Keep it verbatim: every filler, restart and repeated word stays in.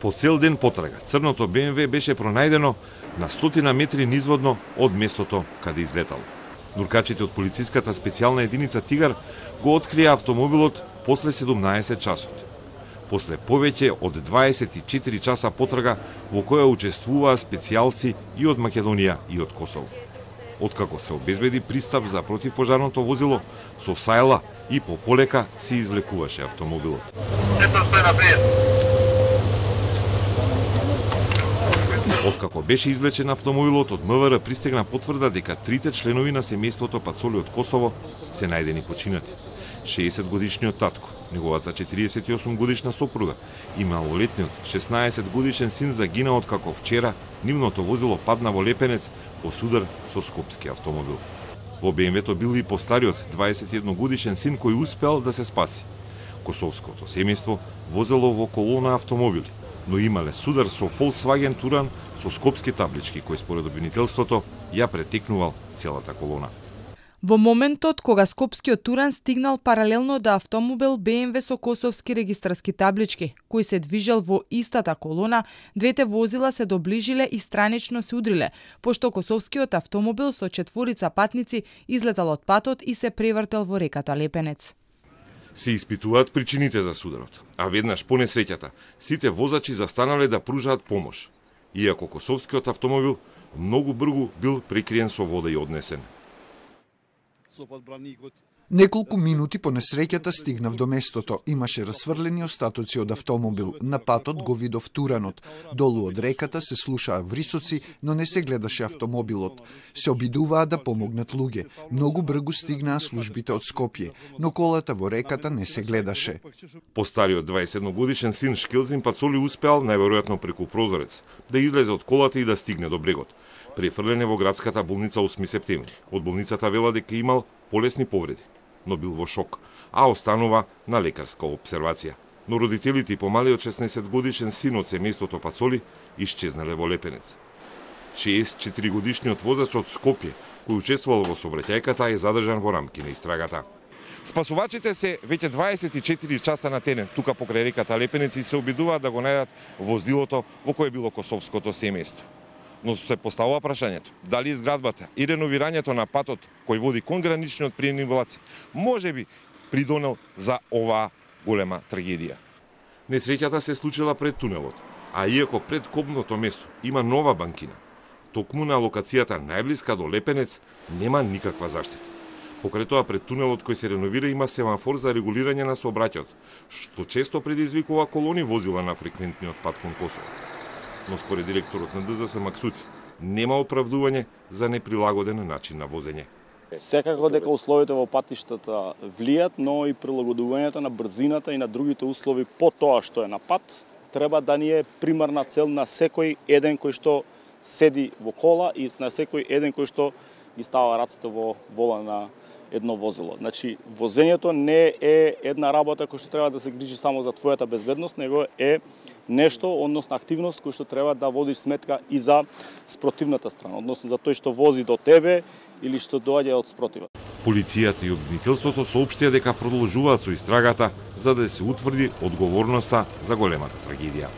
По цел ден потрага, црното Б М В беше пронајдено на стотина метри низводно од местото каде излетало. Нуркачите од полициската специјална единица Тигар го открија автомобилот после седумнаесет часот. После повеќе од дваесет и четири часа потрага во која учествуваа специјалци и од Македонија и од Косово. Откако се обезбеди пристап за противпожарното возило, со сајла и по полека се извлекуваше автомобилот. Откако беше извлечен автомобилот, од М В Р пристигна потврда дека трите членови на семејството Пацоли од Косово се најдени починати. шеесет годишниот татко, неговата четириесет и осум годишна сопруга и малолетниот шеснаесет годишен син загинаа откако вчера нивното возило падна во Лепенец по судар со скопски автомобил. Во Б М В-то бил и постариот дваесет и едно годишен син кој успеал да се спаси. Косовското семејство возело во колона автомобили, но имале судар со Volkswagen Туран со скопски таблички, кој според обвинителството ја претекнувал целата колона. Во моментот кога скопскиот Туран стигнал паралелно до автомобил Б М В со косовски регистарски таблички, кој се движел во истата колона, двете возила се доближиле и странично се удриле, пошто косовскиот автомобил со четворица патници излетал од патот и се превртел во реката Лепенец. Се испитуваат причините за сударот, а веднаш по несреќата сите возачи застанале да пружаат помош, иако косовскиот автомобил многу брзо бил прекриен со вода и однесен. Неколку минути по несреќата стигнав до местото. Имаше расфрлени остатоци од автомобил. На патот го видов Туранот. Долу од реката се слушаа врисоци, но не се гледаше автомобилот. Се обидуваа да помогнат луѓе. Многу брзо стигнаа службите од Скопје, но колата во реката не се гледаше. Постариот дваесет и едно годишен син Шкелзин Пацоли успеал, најверојатно преку прозорец, да излезе од колата и да стигне до брегот. Префрлен е во градската болница осми септември. Од болницата вела дека имал полесни повреди, но бил во шок, а останува на лекарска обсервација. Но родителите и помалиот шеснаесет годишен син од семејството Пацоли исчезнале во Лепенец. шеесет и четири годишниот возач од Скопје, кој учествувал во сообраќајката, е задржан во рамки на истрагата. Спасувачите се веќе дваесет и четири часа на терен тука покрај реката Лепенец и се обидуваат да го најдат возилото во кое било косовското семејство. Но се поставува прашањето, дали изградбата и реновирањето на патот кој води кон граничниот приемни влаци можеби придонел за оваа голема трагедија. Несреќата се случила пред тунелот, а иако пред копното место има нова банкина, токму на локацијата најблиска до Лепенец нема никаква заштита. Покрај тоа пред тунелот кој се реновира има семафор за регулирање на сообраќајот, што често предизвикува колони возила на фреквентниот пат кон Косово. Но според директорот на Д Z С Максути, нема оправдување за неприлагоден начин на возење. Секако дека условите во патиштата влијат, но и прилагодувањето на брзината и на другите услови по тоа што е на пат, треба да ни е примарна цел на секој еден кој што седи во кола и на секој еден кој што ги става рацете во вола на едно возило. Значи, возењето не е една работа која што треба да се грижи само за твојата безбедност, него е нешто, односно активност кој што треба да водиш сметка и за спротивната страна, односно за тој што вози до тебе или што доаѓа од спротива. Полицијата и обвинителството соопштија дека продолжуваат со истрагата за да се утврди одговорноста за големата трагедија.